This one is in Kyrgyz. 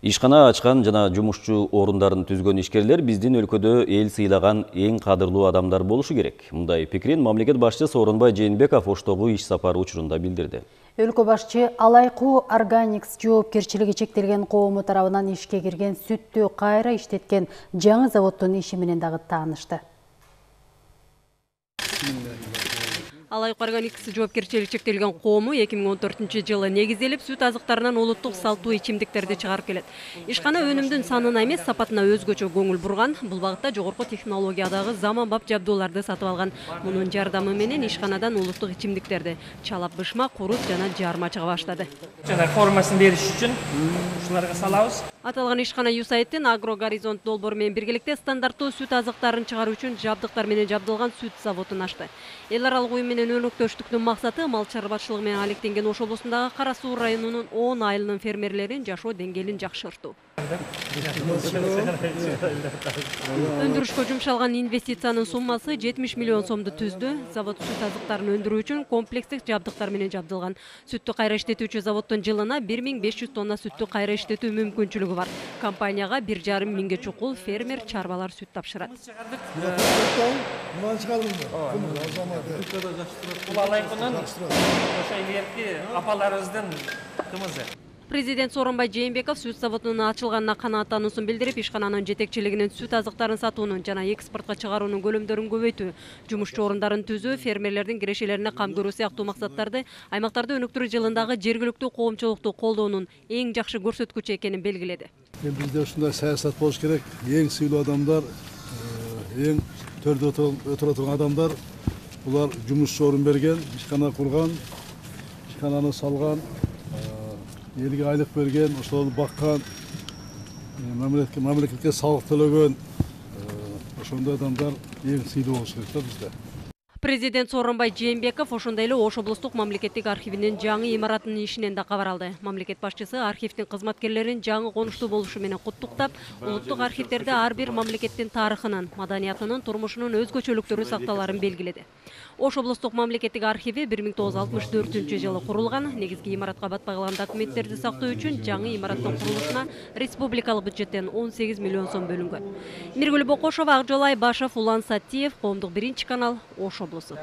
Ишкана ачкан жана жумушчу орундарын түзгөн ишкерлер биздин өлкөдө эл сыйлаган эң кадырлуу адамдар болушу керек. Мындай пикирин мамлекет башчысы Сооронбай Жээнбеков Оштогу иш сапары учурунда билдирди. Өлкө башчы Алайкуу Органикс жоопкерчилиги чектелген коому тарабынан ишке кирген сүттү кайра иштеткен жаңы заводдун иши менен дагы таанышты. Алайкуу Органикс жоопкерчилиги чектелген коому 2014-жылы негизделип, сүт азыктарынан улуттук салттуу ичимдиктерди чыгарып келет. Ишкана өнүмдүн санына эмес, сапатына өзгөчө көңүл бурган. Бул багытта жогорку технологиядагы заманбап жабдууларды сатып алган. Мунун жардамы менен ишканадан улуттук ичимдиктерди чалап бышма, курут жана жарма чыга баштады. Жана формасын бериш үчүн ушуларга салабыз. Аталган ишкана ЮСАИДтин Агро Горизонт долбоору менен биргеликте стандарттуу сүт азыктарын чыгаруу үчүн жабдыктар менен жабдылган сүт заводун ачты. Эл аралык уюм менен өнөктөштүктүн максаты мал чарбачылыгы менен алектенген Ош облусундагы Кара Суу районунун 10 айылынын фермерлерин жашоо деңгээлин жакшыртуу. Өндүрүшкө жумшалган инвестициянын суммасы 70 миллион сомду түздү. Завод сүт азыктарын өндүрүү үчүн комплекстик жабдыктар менен жабдылган. Сүттү кайра иштетүүчү заводдун жылына 1500 тонна сүттү кайра иштетүү мүмкүнчүлүгү бар. Компанияга 1,5 миңге чукул фермер чарбалар сүт тапшырат. Бул Алайкуунун ошо илгерки апаларыбыздын кымызы. Президент Сооронбай Жээнбеков сүт заводунун ачылганына канааттануусун билдирип, ишкананын жетекчилигинин сүт азыктарын сатуунун жана экспортко чыгаруунун көлөмдөрүн көбөйтүү, жумушчу орундарын түзүү, фермерлердин кирешелерине кам көрүү сыяктуу максаттарды аймактарды өнүктүрүү жылындагы жергиликтүү коомчулукту колдоонун эң жакшы көрсөткүчү экенин белгиледи. Бизде ушундай саясат болуш керек. Эң сыйлуу адамдар, эң төрдө отура турган адамдар, булар жумушчу орун берген, ишкана курган, ишкананы салган, элге айлык берген, ошолорду баккан, мамлекетке салык төлөгөн, ошондой адамдар эң сыйлуу болуш керек да бизде. Президент Сооронбай Жээнбеков ошондой эле Ош облустук мамлекеттик архивинин жаңы имаратынын ишинен да кабар алды. Мамлекет башчысы архивдин кызматкерлерин жаңы конуштуу болушу менен куттуктап, улуттук архивдерде ар бир мамлекеттин тарыхынын, маданиятынын, турмушунун өзгөчөлүктөрү сакталарын белгиледи. Ош облустук мамлекеттик архиви 1964-жылы курулган. Негизги имаратка батпай калган документтерди сактоо үчүн жаңы имараттын курулушуна республикалык бюджеттен 18 миллион сом бөлүнгөн. Миргүл Бокошова, Акжол Айбашев, Улан Сатиев, Коомдук 1 канал, Ош облусу.